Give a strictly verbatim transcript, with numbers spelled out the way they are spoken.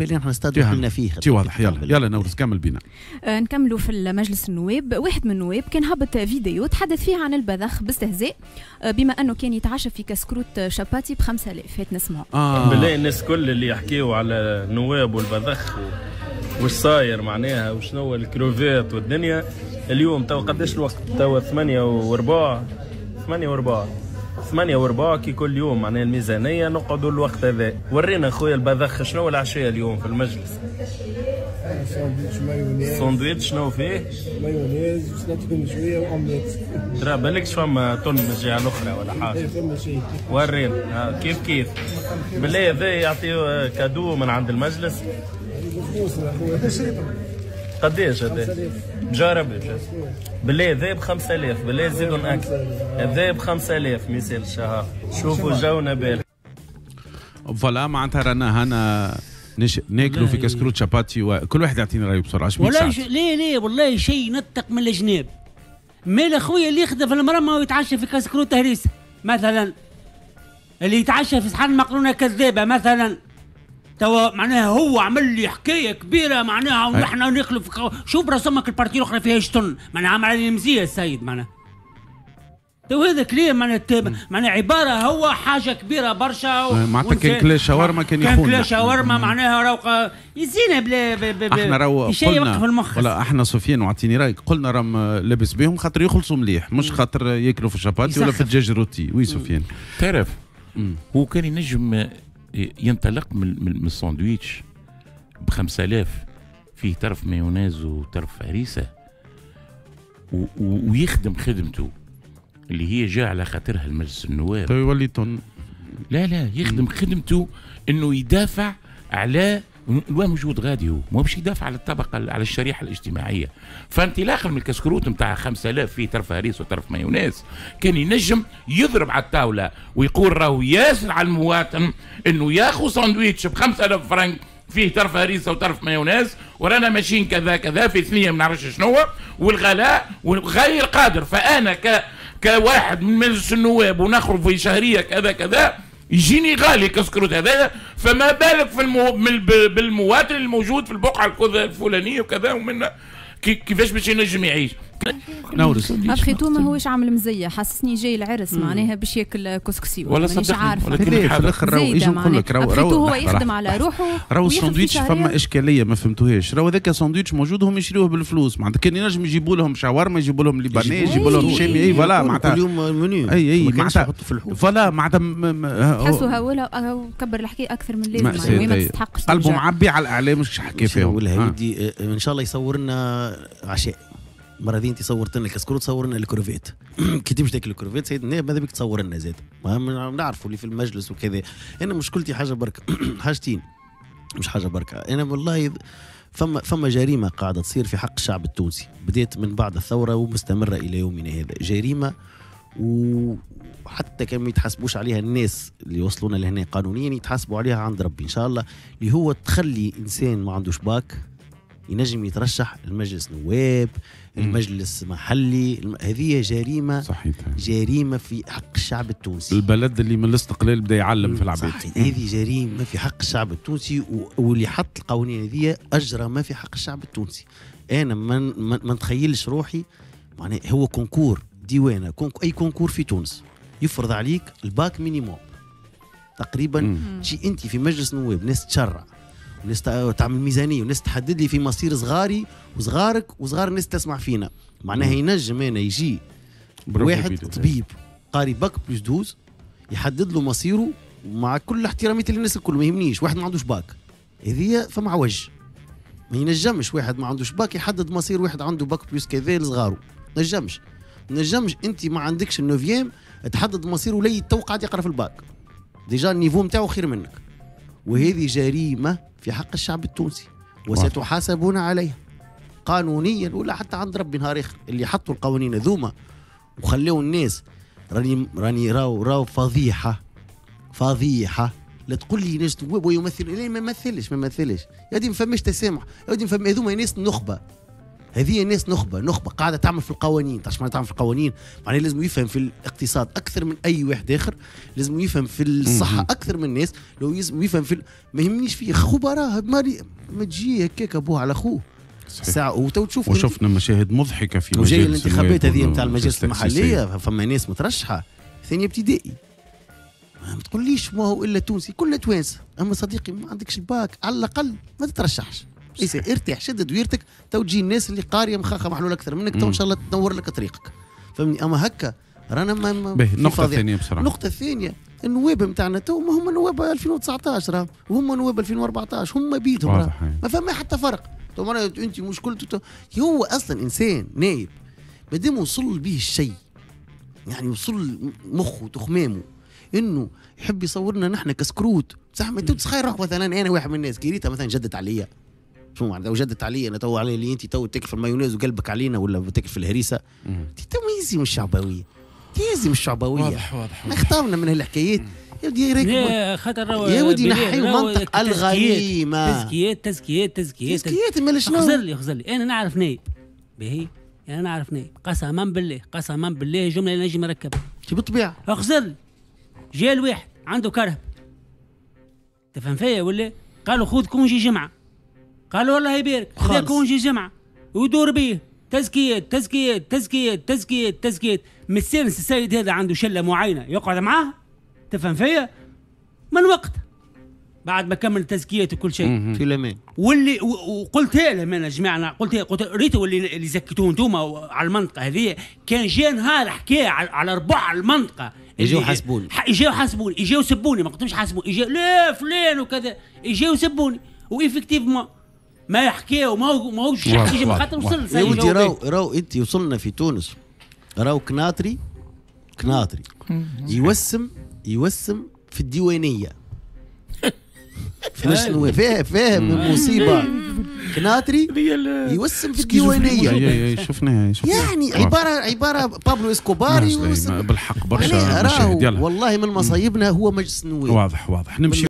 بالي نحن استاد دخلنا فيه. تي واضح. يلا يلا نورس كمل بينا. آه نكملوا في المجلس النواب. واحد من النواب كان هبط فيديو تحدث فيه عن البذخ باستهزاء، آه بما انه كان يتعشى في كسكروت شاباتي ب خمسة آلاف. هات نسمعوا. آه. بالله الناس كل اللي يحكيوا على النواب والبذخ و... وش صاير معناها وشنو الكروفات والدنيا اليوم. تو قداش الوقت؟ تو ثمانية وربع، ثمانية وربع، ثمانية وربع كي كل يوم معناها الميزانية نقعدوا الوقت هذا. ورينا خويا البذخ شنو العشية اليوم في المجلس؟ ساندويتش مايونيز. ساندويتش شنو فيه؟ مايونيز وسلطة مشوية وأومليت. ترى بالكش فما تن من الجهة الأخرى ولا حاجة؟ فما شيء. ورينا كيف كيف. بالله هذا يعطيه cadeau من عند المجلس. قداش هذا؟ جرب بالله هذا ب خمسة آلاف، بالله زيدوا ناكل هذا ب خمسة آلاف ما يسالش. شوفوا جونا بال voilà معناتها رانا هنا نش... ناكلوا في كسكروت شاباتي وكل واحد يعطيني رايه بسرعة. والله ش... ليه ليه والله شيء نطق من الجناب. مال اخويا اللي يخدم في المرمى ويتعشى في كسكروت هريسه مثلا، اللي يتعشى في صحن مقرونة كذابه مثلا، توا معناها هو عمل لي حكاية كبيرة معناها ونحن ناكلوا في شوف رسمك ال partie الاخرى فيها شتن معناها عمل علي مزية السيد معناها. تو هذا كلام معناها معناها عبارة هو حاجة كبيرة برشا. معناتها كان كلا شاورما كان يخون. كان كلا شاورما معناها راهو يزينا بلا بلا احنا راهو قلنا في المخ. ولا احنا سفيان وعطيني رايك قلنا راهم لابس بهم خاطر يخلصوا مليح مش خاطر ياكلوا في الشاباتي ولا في الدجاج rôti. oui سفيان تعرف هو كان ينجم ينطلق من من الساندويتش ب خمسة آلاف فيه طرف مايونيز وطرف هريسه ويخدم خدمته اللي هي جاء على خاطرها المجلس النواب. طيب يولي تن لا لا يخدم خدمته انه يدافع على الوان موجود غادي، هو ما باش يدافع على الطبقة على الشريحة الاجتماعية. فانطلاقا من الكسكروت نتاع خمسة آلاف فيه طرف هريس وطرف مايونيز كان ينجم يضرب على الطاولة ويقول راهو ياسر على المواطن انه ياخذ ساندويتش ب خمسة آلاف فرنك فيه طرف هريسه وطرف مايونيز ورانا ماشيين كذا كذا في ثنيه ما نعرفش شنو والغلاء وغير قادر. فانا ك كواحد من مجلس النواب ونخرج في شهرية كذا كذا يجيني غالي كسكروت هذا، فما بالك في المو... بالمواطن الموجود في البقعة الفلانية وكذا ومن كيفاش باش ينجم يعيش. نورس après tout ما هوش عامل مزية، حسسني جاي العرس معناها باش ياكل كسكسي ولا مانيش عارفه. في الاخر راهو يجي نقول لك راهو راهو هو يخدم على روحه. راهو الساندويتش فما اشكالية ما فهمتوهاش، راهو هذاك ساندويتش موجود هم يشريوه بالفلوس معناتها كان ينجم يجيبوا لهم شاورما يجيبوا لهم libanais يجيبوا لهم شامي اي voilà معناتها كل يوم منيو اي اي معناتها voilà معناتها تحسوا هو كبر الحكاية اكثر من اللازم ما تستحقش. قلبه معبي على الاعلام مش حكي فيهم. ودي ان شاء الله يصور لنا عشاء المرة دي. انت صورت لنا الكسكروت صور لنا الكروفيت. كي تمشي تاكل الكروفيت سيد النائب ماذا بك تصور لنا زاد ما نعرفوا اللي في المجلس وكذا. انا مشكلتي حاجة بركة حاجتين مش حاجة بركة. انا والله فما فما جريمة قاعدة تصير في حق الشعب التونسي بدات من بعد الثورة ومستمرة الى يومنا هذا. جريمة وحتى كان ما يتحاسبوش عليها الناس اللي وصلونا لهنا قانونيا يتحاسبوا عليها عند ربي ان شاء الله، اللي هو تخلي انسان ما عندوش باك ينجم يترشح المجلس نواب المجلس محلي. هذه جريمة صحيح. جريمة في حق الشعب التونسي. البلد اللي من الاستقلال بدا يعلم في العباد. هذه جريمة في حق الشعب التونسي واللي حط القوانين هذه اجرم في حق الشعب التونسي. انا ما ما نتخيلش روحي معناها هو concours ديوانه concours اي concours في تونس يفرض عليك ال bac minimum تقريبا. تجي انت في مجلس نواب ناس تشرع وناس تعمل ميزانية وناس تحدد لي في مصير صغاري وصغارك وصغار الناس تسمع فينا معناها ينجم انا يجي واحد طبيب قاري bac plus douze يحدد له مصيره مع كل احترامي للناس الكل ما يهمنيش. واحد ما عندوش باك هذه فما عوج ما ينجمش واحد ما عندوش باك يحدد مصير واحد عنده bac plus كذا لصغاره. نجمش نجمش انت ما عندكش ال neuvième تحدد مصيره ولي تو قاعد يقرا في ال bac déjà ال niveau نتاعو خير منك. وهذه جريمة في حق الشعب التونسي وستحاسبون عليها قانونيا ولا حتى عند ربي نهار اخر. اللي حطوا القوانين هذوما وخلوا الناس راني راني راو راو فضيحة فضيحة. لا تقول لي ناس ويمثل لا ما يمثلش ما يمثلش يا دي ما فماش تسامح يا دي فما هذوما ناس نخبة هذه الناس نخبة، نخبة قاعدة تعمل في القوانين، تعرف معناها تعمل في القوانين؟ معناها لازم يفهم في الاقتصاد اكثر من اي واحد اخر، لازم يفهم في الصحة اكثر من الناس، لو لازم يفهم في ال... ما يهمنيش فيه خبراء مالي ما تجي هكاك ابوه على اخوه ساعة. وتو تشوف وشفنا مشاهد مضحكة في وجاي الانتخابات هذه نتاع المجالس المحلية، فما ناس مترشحه ثانية ابتدائي، ما تقوليش ما هو الا تونسي، كلنا توانسة، اما صديقي ما عندكش الباك على الاقل ما تترشحش، ارتاح شد دويرتك، تو تجي الناس اللي قارية مخاخه محلولة اكثر منك، تو ان شاء الله تنور لك طريقك، فهمني؟ اما هكا رانا ما باهي. النقطة الثانية بسرعة، النقطة الثانية النواب نتاعنا تو ما هم نواب ألفين وتسعطاش راه، وهم نواب ألفين وأربعطاش، هم بيدهم راه ما فما حتى فرق. تو مرة انت مشكلته هو اصلا انسان نايب مادام وصل به الشيء، يعني وصل مخه وتخمامه انه يحب يصورنا نحن كسكروت. صح ما انت تخيل روحك مثلا انا واحد من الناس كي ريتها مثلا جدت عليا، شو معناتها وجدت عليا انا تو علي اللي انت تو تاكل في المايونيز وقلبك علينا ولا تاكل في الهريسه، انت تو ما يزي من الشعبوية، يزي من الشعبوية. واضح واضح اختارنا من هالحكايات يا ودي راك خاطر يا ودي نحيو منطق الغريمه. تزكيات تزكيات تزكيات تزكيات مال شنو؟ خزر لي خزر لي انا نعرف نايب باهي، انا نعرف نايب قسما بالله قسما بالله جملة نجم نركبها بالطبيعة. اخزر لي جا الواحد عنده كرهب تفهم فيا ولا؟ قالوا خذ congé جمعه، قالوا والله يبارك خذ congé جمعه ويدور بيه تزكيات تزكيات تزكيات تزكيات تزكيات. مستانس السيد هذا عنده شله معينة يقعد معاه تفهم فيا من وقت بعد ما كمل تزكيات وكل شيء في الامان. واللي وقلتها لهم انا جماعة، قلت قلت ريتوا اللي اللي زكيتوه انتوما على المنطقة هذه، كان جا نهار حكى على ربع المنطقة يجيو حاسبوني، يجيو حاسبوني، يجيو سبوني، ما قلتلهمش حاسبوني، يجيو لا فلان وكذا، يجيو سبوني و effectivement ما يحكيو ما هو ماهوش يجي خاطر وصل. يا ودي راهو راهو انت وصلنا في تونس راهو كناطري كناطري يوسم يوسم في الديوانيه شنو فاهم فاهم المصيبة كناطري يوسم في الديوانيه. شفناها يعني عبارة عبارة بابلو اسكوبار يوسم بالحق برشا. والله من مصايبنا هو مجلس النواب. واضح واضح نمشي.